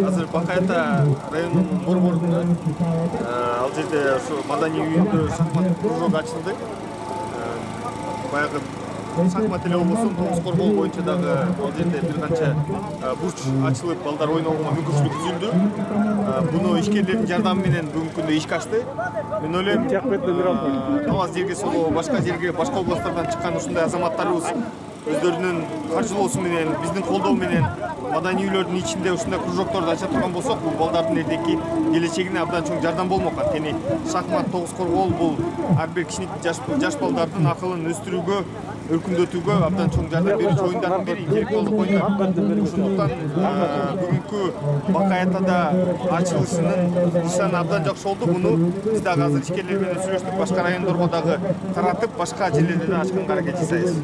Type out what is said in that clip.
Азыр Бакай Ата районунун борборунда ал жерде ушу маданий үйүндө шахмат кружогу ачылды. Баягы шахмат эле болбосо тогуз коргоо боюнча дагы ал жерде бир канча бурч ачылып, балдар ойногонго мүмкүнчүлүк түзүлдү. Буну ишкерлердин жардамы менен бүгүнкү күндө ишке ашты. Мен ойлойм, Талас жерге Соло, башка жерге, башка областтардан чыккан ушундай азаматтарыбыз өздөрүнүн каржылоосу менен, биздин колдоо менен маданий үйлөрдүн ичинде ушундай кружокторду ача турган болсок, бул балдардын эртеки келечегине абдан чоң жардам болмок. Анткени шахмат, тогуз коргоо бул ар бир жаш балдардын акылын өстүрүүгө, өркүндөтүүгө абдан чоң жардам берүүчү оюндардын бири, интеллектуалдык оюндар. Ошондуктан бүгүнкү Бакай Атада ачылышынын нышаны абдан жакшы болду. Буну биз дагы азыр ишкерлер менен сүйлөштүк, башка райондорго дагы таратып, башка жерлерде да ачканга аракет жасайбыз.